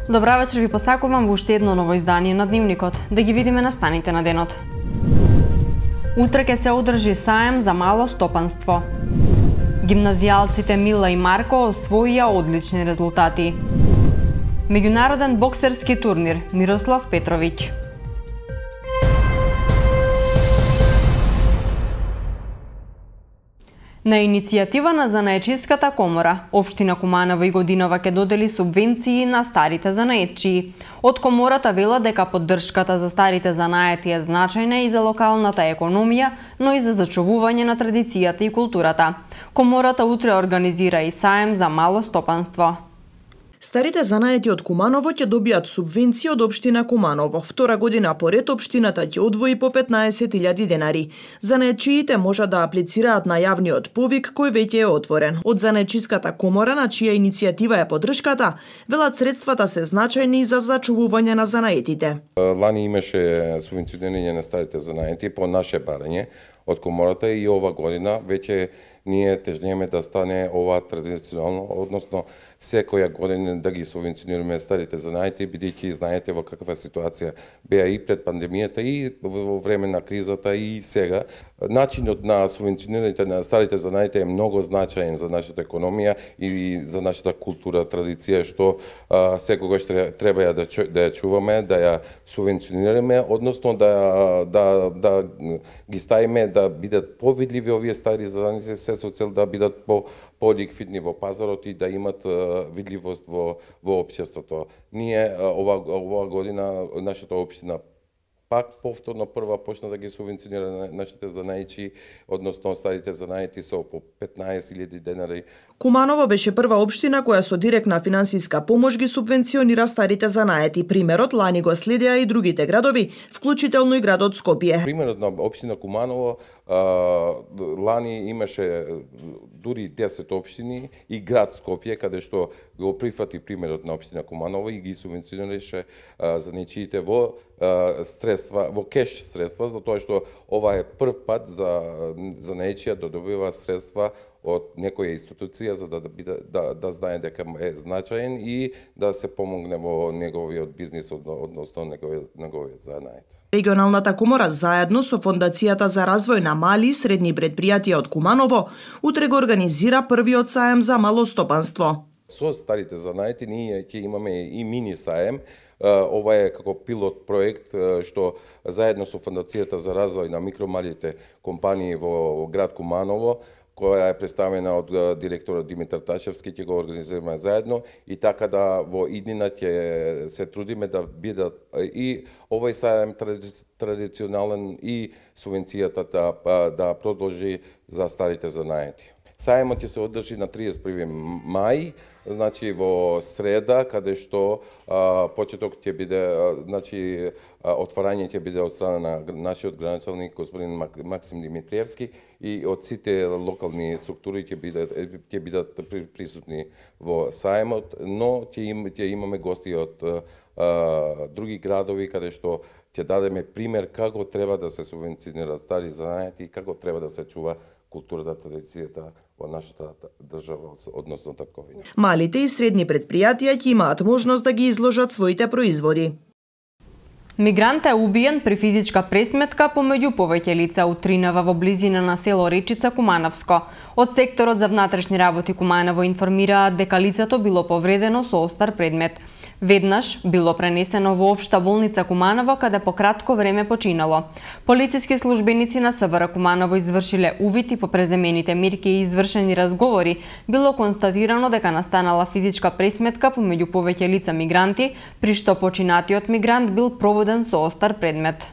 Добра вечер ви посакувам во уште едно ново издание на Дневникот. Да ги видиме настаните на денот. Утре ќе се одржи саем за мало стопанство. Гимназијалците Мила и Марко освоија одлични резултати. Меѓународен боксерски турнир Мирослав Петровиќ. На иницијатива на Занаечиската комора, Општина Куманово и годинава ќе додели субвенции на старите занаетчии. Од комората вела дека поддршката за старите занаети е значајна и за локалната економија, но и за зачувување на традицијата и културата. Комората утре организира и саем за мало стопанство. Старите занаети од Куманово ќе добијат субвенција од Општина Куманово. Втора година поред Општината ќе одвои по 15.000 денари. Занаетчиите можат да аплицираат на јавниот повик кој веќе е отворен. Од Занаечиската комора, на чија иницијатива е поддршката, велат средствата се значајни за зачувување на занаетите. Лани имаше субвенционирање на старите занаети по наше барање од комората и ова година веќе ние тежнеме да стане ова традиционално, односно секоја година да ги субвенционираме старите занаети, бидејќи знаете во каква ситуација беа и пред пандемијата и во време на кризата и сега. Начинот на субвенционирање на старите занаети е многу значаен за нашата економија и за нашата култура, традиција, што секогаш треба да ја чуваме, да ја субвенционираме, односно да ги ставиме да бидат повидливи овие стари занаети, се со цел да бидат по-ликвидни во пазарот и да имат видливост во општеството. Ние ова година нашата општина пак повторно прва почна да ги субвенционира нашите занаети, односно старите занаети со по 15.000 денари. Куманово беше прва општина која со директна финансиска помош ги субвенционира старите занаети. Примерот лани го следеа и другите градови, вклучително и градот Скопје. Примерот на општина Куманово лани имаше дури 10 општини и град Скопје, каде што го прифати примерот на општина Куманово и ги субвенционираше занаетчиите во средства, во кеш средства, затоа што ова е прв пат за занаетчија да добива средства од некоја институција за да знае дека е значаен и да се помогне во неговиот бизнис, односно неговиот занает. Регионалната комора заедно со Фондацијата за развој на мали и средни предпријатија од Куманово утре го организира првиот саем за мало стопанство. Со старите занаети ние ќе имаме и мини саем. Ова е како пилот проект што заедно со Фондацијата за развој на микромалите компании во град Куманово, која е представена од директорот Димитар Ташевски, ќе го организираме заедно и така да во иднина ќе се трудиме да бидат и овој саем традиционален и субвенцијата да продолжи за старите занаети. Саемот ќе се одржи на 31 мај, значи во среда, каде што почеток ќе биде, значи отварање ќе биде од страна на нашиот градоначалник господин Максим Димитриевски и од сите локални структури ќе бидат присутни во саемот, но ќе имаме гости од други градови каде што ќе дадеме пример како треба да се субвенционираат стари занаети и како треба да се чува културата, традицијата во нашата држава, односно татковина. Малите и средни предпријатија ќе имаат можност да ги изложат своите производи. Мигрант е убиен при физичка пресметка помеѓу повеќе лица од Тринава во близина на село Речица, Кумановско. Од секторот за внатрешни работи Куманово информираат дека лицето било повредено со остар предмет. Веднаш било пренесено во Општа болница Куманово, каде по кратко време починало. Полициски службеници на СВР Куманово извршиле увид и по преземените мерки и извршени разговори било констатирано дека настанала физичка пресметка помеѓу повеќе лица мигранти, при што починатиот мигрант бил проводен со остар предмет.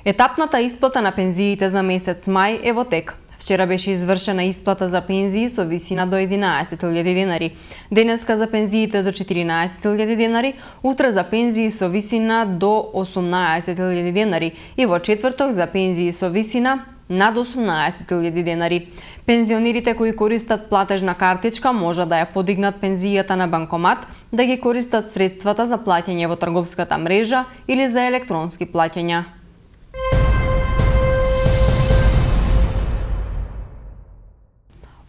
Етапната исплата на пензиите за месец мај е во тек. Вчера беше извршена исплата за пензии со висина до 11.000 денари. Денеска за пензиите до 14.000 денари, утре за пензии со висина до 18.000 денари и во четврток за пензии со висина над 18.000 денари. Пензионерите кои користат платежна картичка може да ја подигнат пензијата на банкомат, да ги користат средствата за плаќање во трговската мрежа или за електронски плаќања.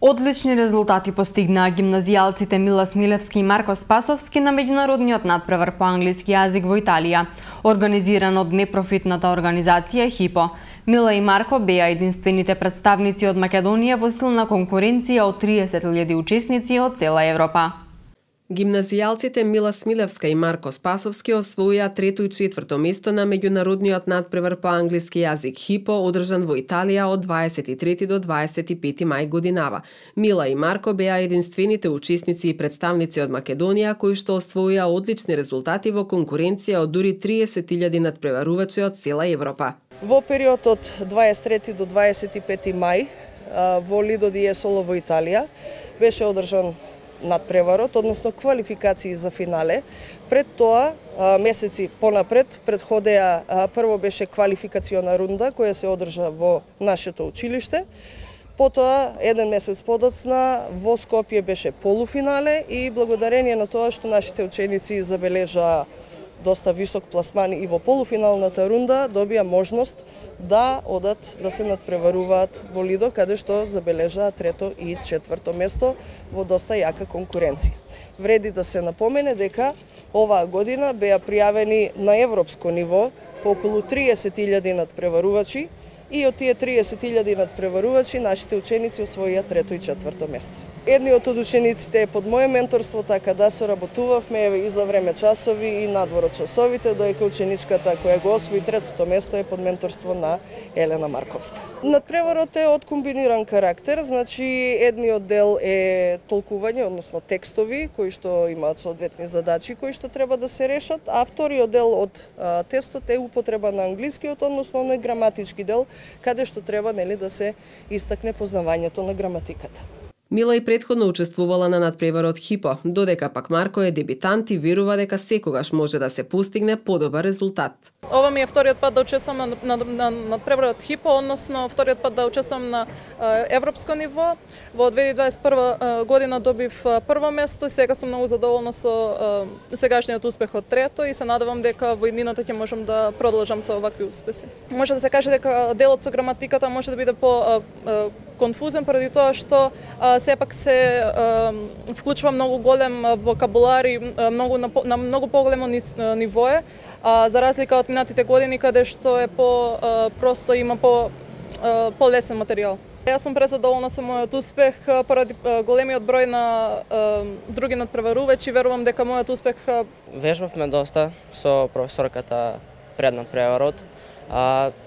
Одлични резултати постигнаа гимназијалците Мила Смилевски и Марко Спасовски на меѓународниот надпревар по англиски јазик во Италија, организиран од непрофитната организација ХИПО. Мила и Марко беа единствените представници од Македонија во силна конкуренција од 30.000 учесници од цела Европа. Гимназијалците Мила Смилевска и Марко Спасовски освоија трето и четврто место на меѓународниот надпревар по англиски јазик ХИПО, одржан во Италија од 23 до 25 мај годинава. Мила и Марко беа единствените учесници и представници од Македонија кои што освоија одлични резултати во конкуренција од дури 30.000 надпреварувачи од цела Европа. Во период од 23 до 25 мај во Lido di Jesolo во Италија беше одржан надпреварот, односно квалификации за финале. Пред тоа, месеци понапред, предходеа, прво беше квалификациона рунда која се одржа во нашето училиште. Потоа, еден месец подоцна, во Скопје беше полуфинале и благодарение на тоа што нашите ученици забележаа доста висок пласман и во полуфиналната рунда, добија можност да одат да се надпреваруваат во Лидо, каде што забележаа трето и четврто место во доста јака конкуренција. Вреди да се напомене дека оваа година беа пријавени на европско ниво околу 30.000 надпреварувачи и од тие 30.000 надпреварувачи нашите ученици освоија трето и четврто место. Едниот од учениците е под моје менторство, така да соработувавме и за време часови и надвор од часовите, доека ученичката која го освои третото место е под менторство на Елена Марковска. Надпреварот е од комбиниран карактер, значи едниот дел е толкување, односно текстови кои што имаат соодветни задачи кои што треба да се решат, а вториот дел од тестот е употреба на англискиот, односно на граматички дел, каде што треба да се истакне познавањето на граматиката. Мила и претходно учествувала на надпреварот ХИПО, додека пак Марко е дебитант и верува дека секогаш може да се постигне подобар резултат. Ова ми е вториот пат да учествувам на надпреварот ХИПО, односно вториот пат да учествувам на европско ниво. Во 2021 година добив прво место и сега сум многу задоволна со сегашниот успех од трето и се надевам дека во иднината ќе можам да продолжам со овакви успеси. Може да се каже дека делот со граматиката може да биде по конфузен поради тоа што сепак се вклучува многу голем вокабулар и на многу поголемо ниво е, за разлика од минатите години каде што е просто има полесен материјал. Јас сум презадоволна со мојот успех поради големиот број на други надпреварувачи, верувам дека мојот успех... Вежбавме доста со професорката пред надпреварот.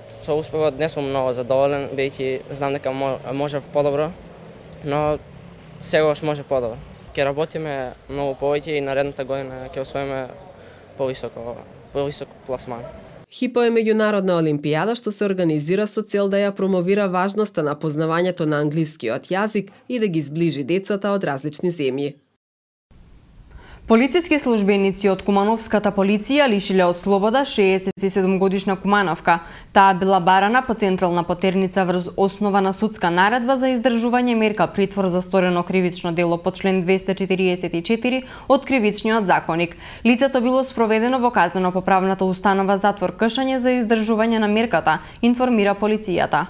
Со успехот не сум многу задоволен, бејќи знам дека можев подобро, но сегаш може подобро. Ќе работиме многу повеќе и наредната година ќе освоиме повисок пласман. ХИПО е меѓународна олимпијада што се организира со цел да ја промовира важноста на познавањето на англискиот јазик и да ги зближи децата од различни земји. Полициски службеници од Кумановската полиција лишиле од слобода 67-годишна Кумановка. Таа била барана по централна потерница врз основа на судска наредба за издржување мерка притвор за сторено кривично дело по член 244 од Кривичниот законник. Лицето било спроведено во казнено-поправната установа затвор Кшање за издржување на мерката, информира полицијата.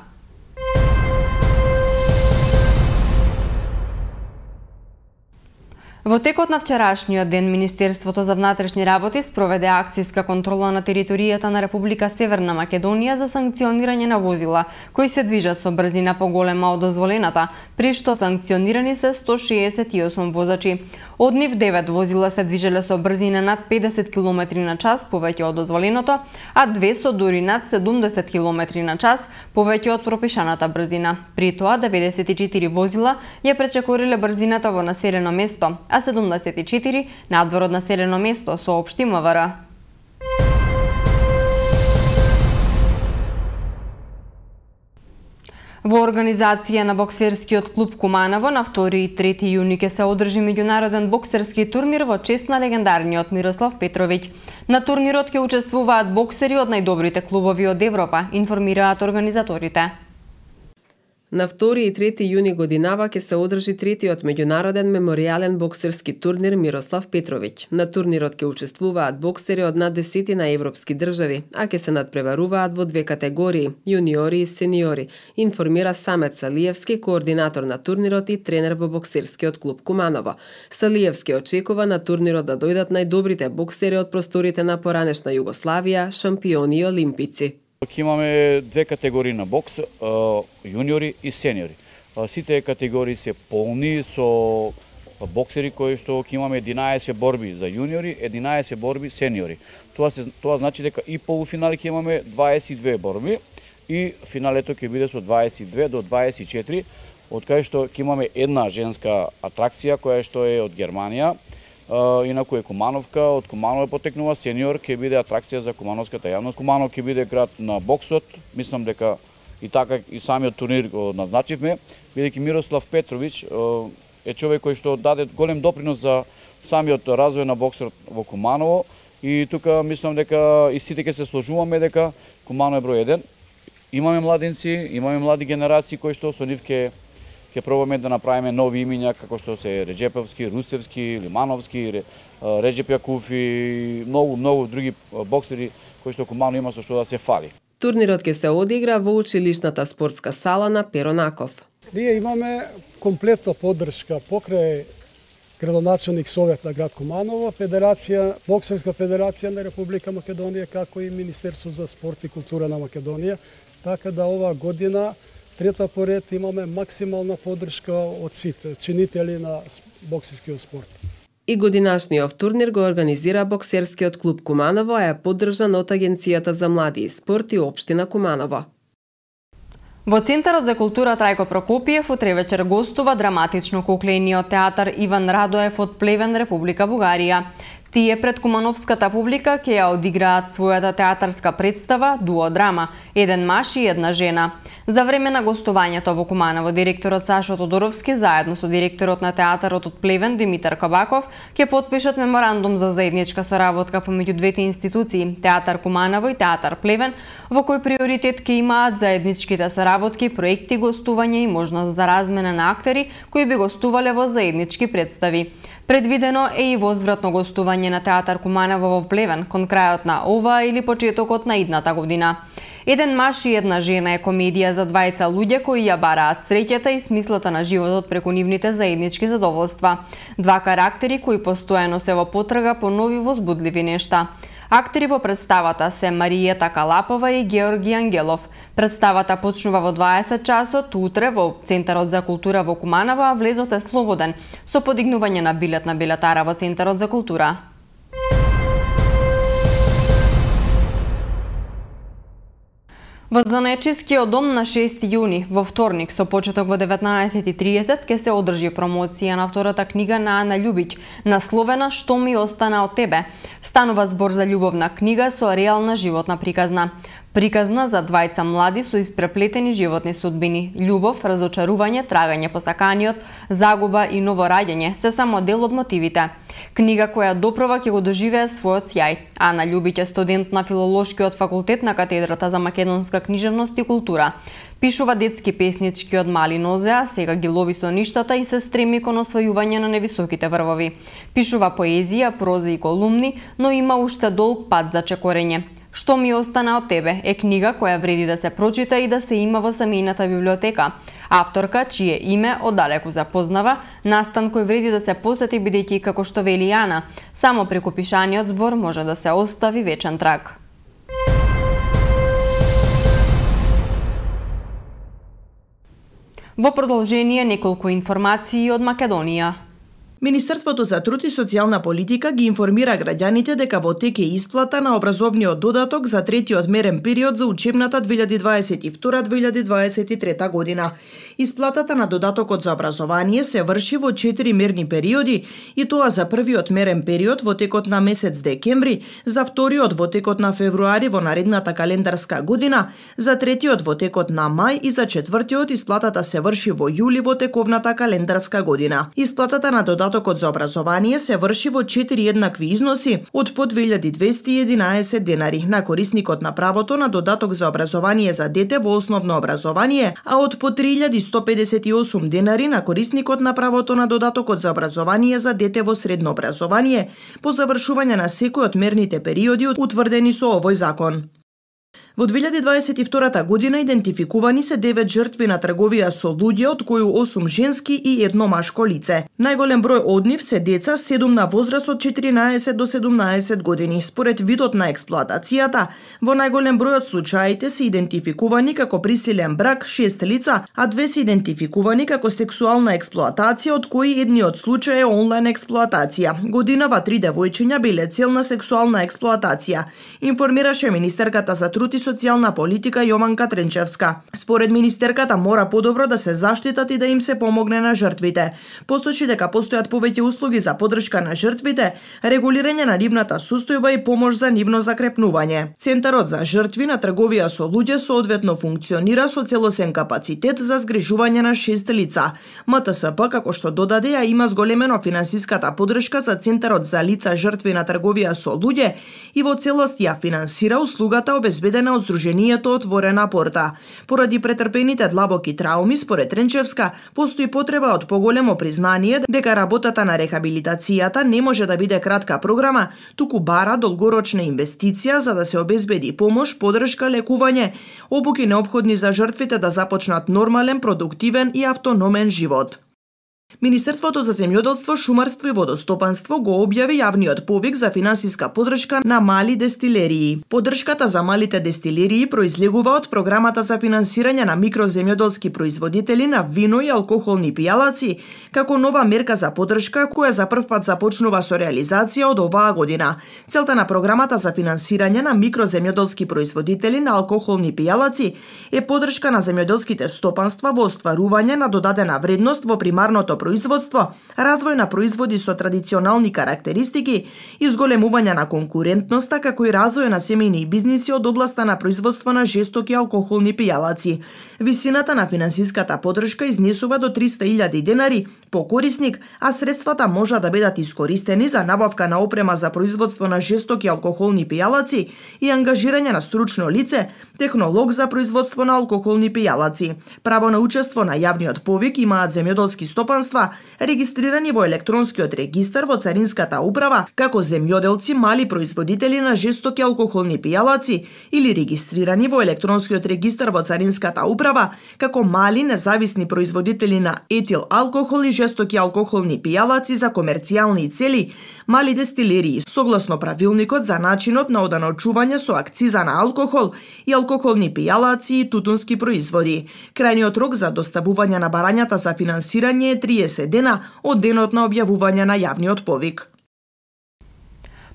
Во текот на вчерашниот ден, Министерството за внатрешни работи спроведе акцијска контрола на територијата на Република Северна Македонија за санкционирање на возила кои се движат со брзина поголема од дозволената, при што санкционирани се 168 возачи. Од нив 9 возила се движеле со брзина над 50 км на час повеќе од дозволеното, а 2 со дури над 70 км на час повеќе од пропишаната брзина. При тоа 94 возила ја пречекориле брзината во населено место, а 74 надвор од населено место, соопшти МВР. Во организација на боксерскиот клуб Куманово на 2 и 3 јуни ќе се одржи меѓународен боксерски турнир во чест на легендарниот Мирослав Петровиќ. На турнирот ќе учествуваат боксери од најдобрите клубови од Европа, информираат организаторите. На 2 и 3 јуни годинава ќе се одржи третиот меѓународен меморијален боксерски турнир Мирослав Петровиќ. На турнирот ќе учествуваат боксери од над 10 европски држави, а ќе се надпреваруваат во две категории – јуниори и сениори, информира Самет Салиевски, координатор на турнирот и тренер во боксерскиот клуб Куманово. Салиевски очекува на турнирот да дојдат најдобрите боксери од просторите на поранешна Југославија, шампиони и олимпици. Ќе имаме две категории на бокс, јуниори и сениори. Сите категории се полни со боксери кои што ќе имаме 11 борби за јуниори, 11 борби сениори. Тоа значи дека и полуфинали ќе имаме 22 борби и финалето ќе биде со 22 до 24, од кај што ќе имаме една женска атракција која што е од Германија. Инаку е Кумановка, од Куманово потекнува сениор, ќе биде атракција за кумановската јавност. Куманов ќе биде град на боксот, мислам дека и така и самиот турнир го назначивме, бидејќи Мирослав Петровиќ е човек кој што даде голем допринос за самиот развој на боксот во Куманово и тука мислам дека и сите ќе се сложуваме дека Куманово е број 1. Имаме младинци, имаме млади генерации кои што со нив ќе пробаме да направиме нови имиња како што се Реджеповски, Русевски, Лимановски, Реджеп Јакуф и многу други боксери кои што Куманово има со што да се фали. Турнирот ќе се одигра во училишната спортска сала на Перонаков. Ние имаме комплетна поддршка покрај градоначелник совет на град Куманово, боксерска федерација на Република Македонија, како и Министерство за спорт и култура на Македонија, така да оваа година трета поред имаме максимална поддршка од сите чинители на боксерскиот спорт. И годинашниот турнир го организира боксерскиот клуб Куманово, а е поддржан од Агенцијата за млади и спорт и општина Куманово. Во Центарот за култура Трајко Прокопиев утре вечер гостува драматично куклениот театар Иван Радоев од Плевен, Република Бугарија. Тие пред кумановската публика ќе ја одиграат својата театарска представа дуодрама «Еден маж и една жена». За време на гостувањето во Куманово, директорот Сашо Тодоровски заедно со директорот на театарот од Плевен Димитар Кабаков ќе потпишат меморандум за заедничка соработка помеѓу двете институции, Театар Куманово и Театар Плевен, во кој приоритет ќе имаат заедничките соработки, проекти, гостување и можност за размена на актери кои би гостувале во заеднички представи. Предвидено е и возвратно гостување на Театар Куманово во Плевен кон крајот на ова или почетокот на идната година. Еден маж и една жена е комедија за двајца луѓе кои ја бараат среќата и смислата на животот преку нивните заеднички задоволства. Два карактери кои постојано се во потрага по нови возбудливи нешта. Актери во представата се Маријета Калапова и Георги Ангелов. Представата почнува во 20 часот утре во Центарот за култура во Куманово, а влезот е слободен со подигнување на билет на билетара во Центарот за култура. Во Занечискиот дом на 6 јуни, во вторник, со почеток во 19:30, ќе се одржи промоција на втората книга на Ана Љубиќ, насловена «Што ми остана од тебе». Станува збор за љубовна книга со реална животна приказна. Приказна за двајца млади со испреплетени животни судбини. Љубов, разочарување, трагање по саканиот, загуба и ново раѓање се само дел од мотивите. Книга која допрва ќе го доживее својот сјај. Ана Љубиќ е студент на Филолошкиот факултет на катедрата за македонска книжевност и култура. Пишува детски песнички од мали нозе, а сега ги лови со ништата и се стреми кон освојување на невисоките врвови. Пишува поезија, проза и колумни, но има уште долг пат за чекорење. «Што ми остана од тебе» е книга која вреди да се прочита и да се има во семејната библиотека. Авторка, чие име оддалеку запознава, настан кој вреди да се посети бидејќи, како што вели Ана, само преку пишаниот збор може да се остави вечен траг. Во продолжение неколку информации од Македонија. Министерството за труд и социјална политика ги информира граѓаните дека во тек е исплата на образовниот додаток за третиот мерен период за учебната 2022-2023 година. Исплатата на додатокот за образование се врши во 4 мерни периоди и тоа за првиот мерен период во текот на месец декември, за вториот во текот на февруари во наредната календарска година, за третиот во текот на мај и за четвртиот исплатата се врши во јули во тековната календарска година. Исплатата на додатокот додатокот за образование се врши во 4 еднакви износи од по 2211 денари на корисникот на правото на додаток за образование за дете во основно образование, а од по 3158 денари на корисникот на правото на додатокот за образование за дете во средно образование по завршување на секој од мерните периоди утврдени со овој закон. Во 2022 година идентификувани се 9 жртви на трговија со луѓе, од кои 8 женски и 1 машко лице. Најголем број од нив се деца, 7 на возраст од 14 до 17 години. Според видот на експлоатацијата, во најголем број од случаите се идентификувани како присилен брак 6 лица, а 2 се идентификувани како сексуална експлоатација, од кои едниот случај е онлайн експлоатација. Годинава 3 девојчиња биле цел на сексуална експлоатација, информираше министерката за труд и социјална политика Јованка Тренчевска. Според министерката мора подобро да се заштитат и да им се помогне на жртвите. Посочи дека постојат повеќе услуги за поддршка на жртвите, регулирање на нивната состојба и помош за нивно закрепнување. Центарот за жртви на трговија со луѓе соодветно функционира со целосен капацитет за згрижување на 6 лица. МТСП, како што додаде, ја има зголемено финансиската поддршка за Центарот за лица жртви на трговија со луѓе и во целост ја финансира услугата обезбедена од Сдруженијето Отворена порта. Поради претрпените длабоки трауми, според Тренчевска, постои потреба од поголемо признание дека работата на рехабилитацијата не може да биде кратка програма, туку бара долгорочна инвестиција за да се обезбеди помош, поддршка, лекување, обуки неопходни за жртвите да започнат нормален, продуктивен и автономен живот. Министерството за земјоделство, шумарство и водостопанство го објави јавниот повик за финансиска поддршка на мали дестилерии. Поддршката за малите дестилерии произлегува од програмата за финансирање на микроземјоделски производители на вино и алкохолни пијалаци, како нова мерка за поддршка која за прв пат започнува со реализација од оваа година. Целта на програмата за финансирање на микроземјоделски производители на алкохолни пијалаци е поддршка на земјоделските стопанства во остварување на додадена вредност во примарното производство, развој на производи со традиционални карактеристики, изголемување на конкурентноста, како и развој на семејни бизниси од областа на производство на жестоки алкохолни пијалаци. Висината на финансиската поддршка изнесува до 300.000 денари по корисник, а средствата можат да бидат искористени за набавка на опрема за производство на жестоки алкохолни пијалаци и ангажирање на стручно лице, технолог за производство на алкохолни пијалаци. Право на учество на јавниот повик имаат земјоделски стопанства регистрирани во електронскиот регистар во Царинската управа како земјоделци мали производители на жестоки алкохолни пијалаци или регистрирани во електронскиот регистар во Царинската управа како мали независни производители на етил алкохол и жестоки алкохолни пијалаци за комерцијални цели, мали дестилерии, согласно правилникот за начинот на оданочување со акциза на алкохол и алкохолни пијалаци и тутунски производи. Крајниот рок за доставување на барањата за финансирање е 30 дена од денот на објавување на јавниот повик.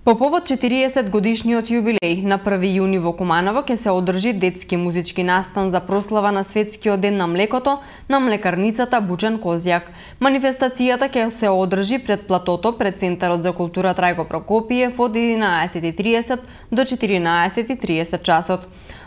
По повод 40 годишниот јубилеј на 1 јуни во Куманово ќе се одржи детски музички настан за прослава на Светскиот ден на млекото на млекарницата Бучен Козјак. Манифестацијата ќе се одржи пред платото пред Центарот за култура Трајко Прокопиев од 11:30 до 14:30 часот.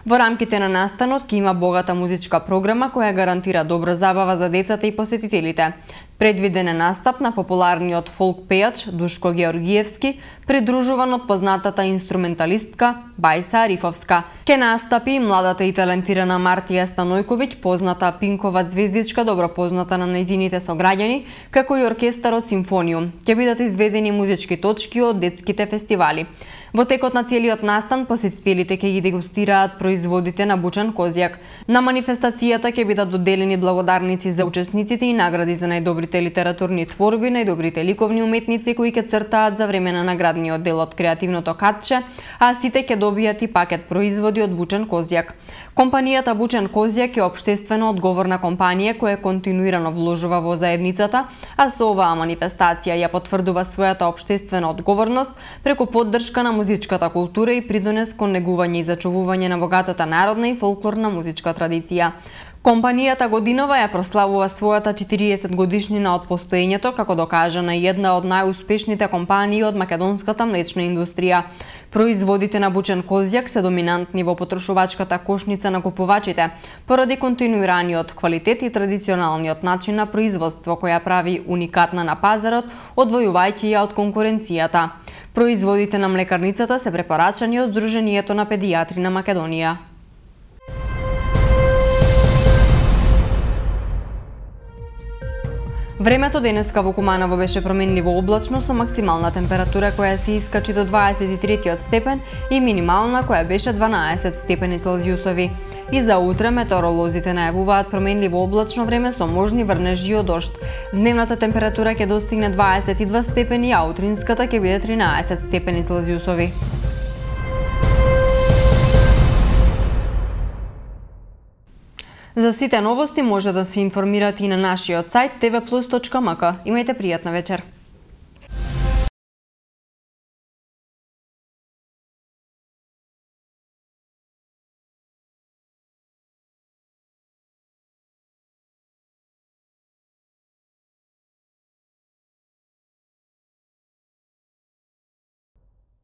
Во рамките на настанот ќе има богата музичка програма која гарантира добра забава за децата и посетителите. Предвиден е настап на популарниот фолк пејач Душко Георгиевски, придружуван од познатата инструменталистка Бајса Арифовска. Ке настапи и младата и талентирана Мартија Станојковиќ, позната пинкова звездичка, добро позната на нејзините сограѓани, како и оркестарот Симфониум. Ќе бидат изведени музички точки од детските фестивали. Во текот на целиот настан, посетителите ќе ги дегустираат производите на Бучен Козјак. На манифестацијата ќе бидат доделени благодарници за учесниците и награди за најдобрите литературни творби, најдобрите ликовни уметници кои ќе цртаат за време на наградниот дел од креативното катче, а сите ќе добијат и пакет производи од Бучен Козјак. Компанијата Бучен Козјак е општествено одговорна компанија која континуирано вложува во заедницата, а со оваа манифестација ја потврдува својата општествена одговорност преку поддршка на музичката култура и придонес кон негување и зачувување на богатата народна и фолклорна музичка традиција. Компанијата годинава ја прославува својата 40 годишнина од постоењето како докажана една од најуспешните компании од македонската млечна индустрија. Производите на бучен козјак се доминантни во потрошувачката кошница на купувачите, поради континуираниот квалитет и традиционалниот начин на производство која прави уникатна на пазарот, одвојувајќи ја од конкуренцијата. Производите на млекарницата се препорачани од Сдруженијето на педијатри на Македонија. Времето денеска во Куманово беше променливо облачно со максимална температура која се искачи до 23 степен и минимална која беше 12 степени Целзиусови. И за утре метеоролозите најавуваат променливо облачно време со можни врнежи од дожд. Дневната температура ќе достигне 22 степени, а утринската ќе биде 13 степени Целзиусови. За сите новости може да се информирате и на нашиот сајт tvplus.mk. Имајте пријатна вечер.